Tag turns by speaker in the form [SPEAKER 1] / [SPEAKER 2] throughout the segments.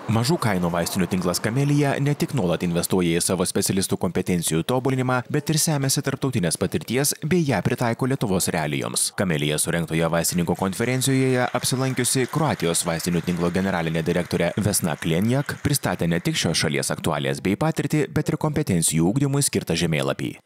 [SPEAKER 1] Mažų kainų vaistinių tinklas Camellia ne tik nuolat investuoja į savo specialistų kompetencijų tobulinimą, bet ir semėsi tarptautinės patirties bei ją pritaiko Lietuvos realijoms. Camellia surengtoje vaistininkų konferencijoje apsilankiusi Kroatijos vaistinių tinklo generalinė direktorė Vesna Klenjak pristatė ne tik šios šalies aktualijas bei patirtį, bet ir kompetencijų ugdymui skirtą žemėlapį.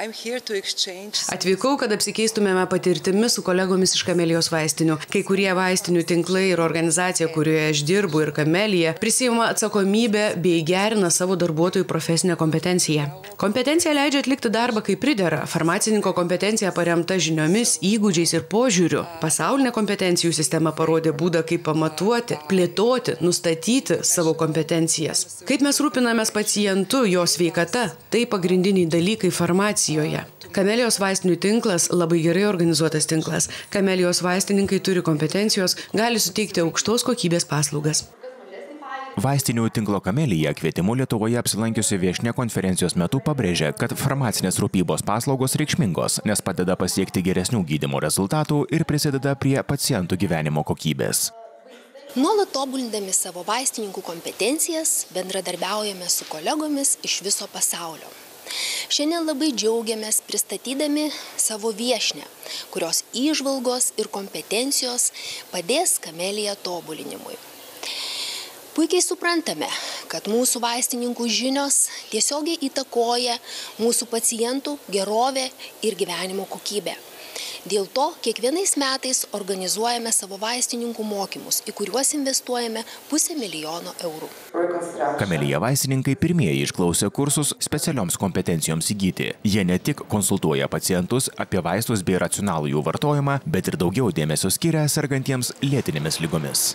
[SPEAKER 2] Atvykau, kad apsikeistumėme patirtimi su kolegomis iš Camellios vaistinių. Kai kurie vaistinių tinklai ir organizacija, kurioje aš dirbu, ir Camellia prisiima atsakomybę bei gerina savo darbuotojų profesinę kompetenciją. Kompetencija leidžia atlikti darbą kaip pridera. Farmacininko kompetencija paremta žiniomis, įgūdžiais ir požiūriu. Pasaulinė kompetencijų sistema parodė būdą, kaip pamatuoti, plėtoti, nustatyti savo kompetencijas. Kaip mes rūpinamės pacientu, jo sveikata, tai pagrindiniai dalykai farmacijoje. Camellios vaistinių tinklas labai gerai organizuotas tinklas. Camellios vaistininkai turi kompetencijos, gali suteikti aukštos kokybės paslaugas.
[SPEAKER 1] Vaistinių tinklo Camellia kvietimu Lietuvoje apsilankiusi viešnia konferencijos metu pabrėžė, kad farmacinės rūpybos paslaugos reikšmingos, nes padeda pasiekti geresnių gydymo rezultatų ir prisideda prie pacientų gyvenimo kokybės.
[SPEAKER 3] Nuolat tobulindami savo vaistininkų kompetencijas, bendradarbiaujame su kolegomis iš viso pasaulio. Šiandien labai džiaugiamės pristatydami savo viešnią, kurios įžvalgos ir kompetencijos padės Camellia tobulinimui. Puikiai suprantame, kad mūsų vaistininkų žinios tiesiogiai įtakoja mūsų pacientų gerovę ir gyvenimo kokybę. Dėl to kiekvienais metais organizuojame savo vaistininkų mokymus, į kuriuos investuojame 500 000 eurų.
[SPEAKER 1] Camellia vaistininkai pirmieji išklausė kursus specialioms kompetencijoms įgyti. Jie ne tik konsultuoja pacientus apie vaistus bei racionalų jų vartojimą, bet ir daugiau dėmesio skiria sergantiems lėtinėmis ligomis.